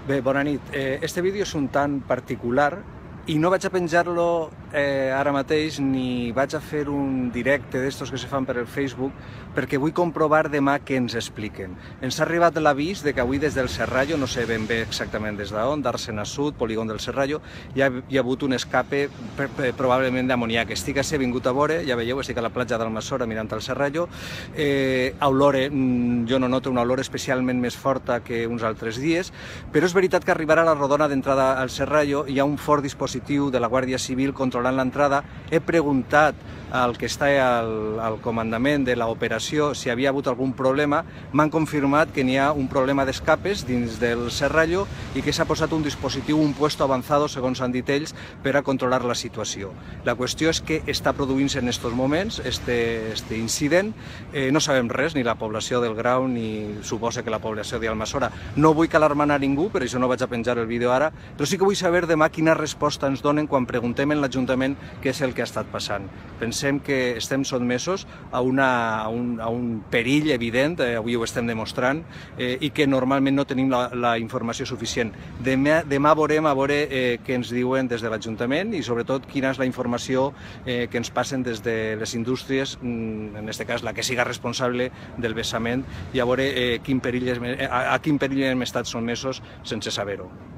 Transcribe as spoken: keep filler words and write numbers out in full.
Bé, bona nit. Eh, este vídeo és un tant particular i no vaig a penjar-lo eh, ara mateix ni vaig a fer un directe d'estos que se fan per el Facebook perquè vull comprovar demà què ens expliquen. Ens ha arribat l'avís de que avui des del Serrallo, no sé ben bé exactament des d'on, d'Àrcena Sud, polígon del Serrallo, hi ha, hi ha hagut un escape per, per, probablement d'amoniac. Estic a ser vingut a veure, ja veieu, estic a la platja d'Almassora mirant el Serrallo. Eh, a olore, jo no noto una olor especialment més forta que uns altres dies, però és veritat que arribarà a la rodona d'entrada al Serrallo, hi ha un fort dispositiu de la Guàrdia Civil controlant l'entrada. He preguntat al que està al, al comandament de l'operació si havia hagut algun problema. M'han confirmat que n'hi ha un problema d'escapes dins del Serrallo i que s'ha posat un dispositiu, un puesto avançado, segons han dit ells, per a controlar la situació. La qüestió és que està produint-se en aquests moments este, este incident. Eh, no sabem res, ni la població del Grau, ni suposa que la població d'Almassora. No vull alarmar a ningú, per això no vaig a penjar el vídeo ara, però sí que vull saber demà quina resposta ens donen quan preguntem en l'Ajuntament què és el que ha estat passant. Pensem que estem sotmesos a, una, a, un, a un perill evident, eh, avui ho estem demostrant, eh, i que normalment no tenim la, la informació suficient. Demà, demà veurem a veure eh, què ens diuen des de l'Ajuntament i sobretot quina és la informació eh, que ens passen des de les indústries, en aquest cas la que siga responsable del vessament, i a veure eh, quin perill, a, a quin perill hem estat sotmesos sense saber-ho.